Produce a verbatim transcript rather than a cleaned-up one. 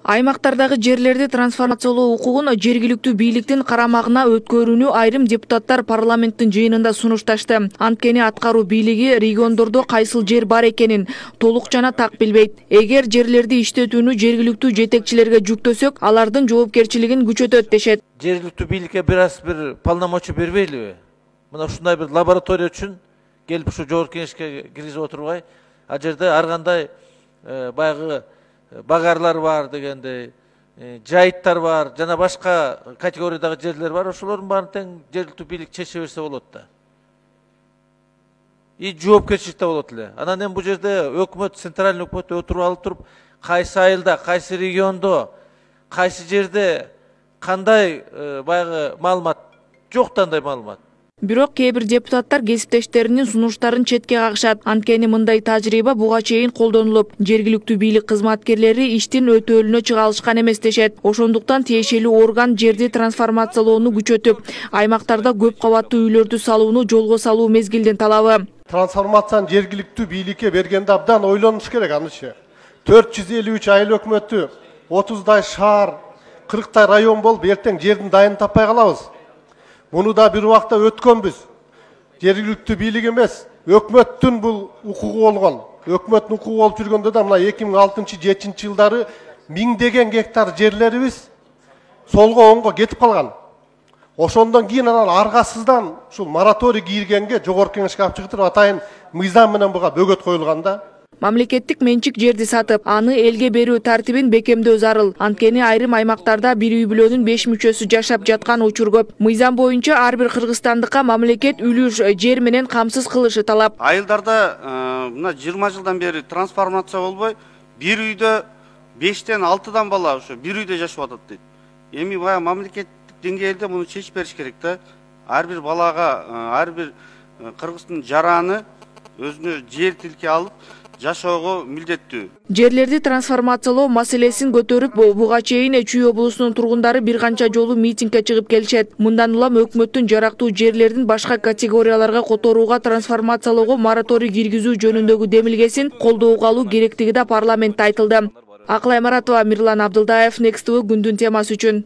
Аймактардагы жерлерди трансформациялоо укугун жергиликтүү бийликтин карамагына өткөрүүнү айрым депутаттар парламенттин жыйынында сунушташты. Анткени аткаруу бийлиги региондордо кайсыл жер бар экенин толук жана так билбейт. Эгер жерлерди иштетүүнү жергиликтүү жетекчилерге жүктөсөк, алардын жоопкерчилигин күчөтөт дешет. Жергиликтүү бийликке бир аз бир полномочия бербейлиби? Мына ушундай бир лаборатория үчүн келип ушу жогорку кеңешке киргизип отурбай, ал жерде ар кандай баягы багарлар бар дегендей, жайыттар бар, жана башка категориядагы жерлер бар. Ошолордун баарын тең жергиликтүү бийлик чече берсе болот да. И жоопкерчилик да болот эле. Анан эми бул жерде өкмөт, центральный өкмөт отуруп алып туруп, кайсы айылда, кайсы региондо, кайсы жерде кандай баягы маалымат жок, андай маалымат. Бирок кээ бир депутаттар кесиптештеринин сунуштарын четке кагышат. Анткени мындай тажрыйба буга чейин колдонулуп, жергиликтүү бийлик кызматкерлери иштин өтөөлүнө чыга алышкан эмес дешет. Ошондуктан тиешелүү орган жерди трансформациялоону күчөтүп, аймактарда көп кабаттуу үйлөрдү салууну жолго салуу мезгилдин талабы. Трансформацияны жергиликтүү бийликке бергенде абдан ойлонуш керек анычы. төрт жүз элүү үч айыл өкмөтү, отуздай шаар, кырктай район болуп, эртең жердин дайын таппай калабыз. Буну да бир убакта өткөнбүз. Жергиликтүү бийлик эмес, өкмөттүн бул укугу болгон. Өкмөттүн укугу болуп жүргөндө да мына эки миң алтынчы жетинчи жылдары миңдеген гектар жерлерибиз солго оңго кетип калган. Ошондон кийин анан аргасыздан ушул мораторий кийилгенге жогорку кеңешке алып чыгып атайын мыйзам менен буга бөгөт коюлган да. Мамлекеттик менчик жерди сатып, аны элге берүү тартибин бекемдөө зарыл. Анткени айрым аймактарда бир үй бүлөнүн беш мүчөсү жашап жаткан учур көп. Мыйзам боюнча ар бир кыргызстандыкка мамлекет үлүш жер менен камсыз кылышы талап. Айылдарда мына жыйырма жылдан бери трансформация болбой, бир үйдө бештен алтыдан бала ошо бир үйдө жашап атат дейт. Эми бая мамлекеттик деңгээлде муну чечип бериш керек да. Ар бир балага, ар бир кыргыздын жараны өзүнө жер тилке алып жашоого милдеттүү. Жерлерди трансформациялоо маселесин көтөрүп, буга чейин Чүй облусунун тургундары бир канча жолу митингге чыгып келишет. Мындан улам өкмөттүн жарактуу жерлердин башка категорияларга которууга, трансформациялоого мораторий киргизүү жөнүндөгү демилгесин колдоого алуу керектиги да парламентте айтылды. Акылай Маратова, Мирлан Абдылдаев, Next тэ вэ күндүн темасы үчүн.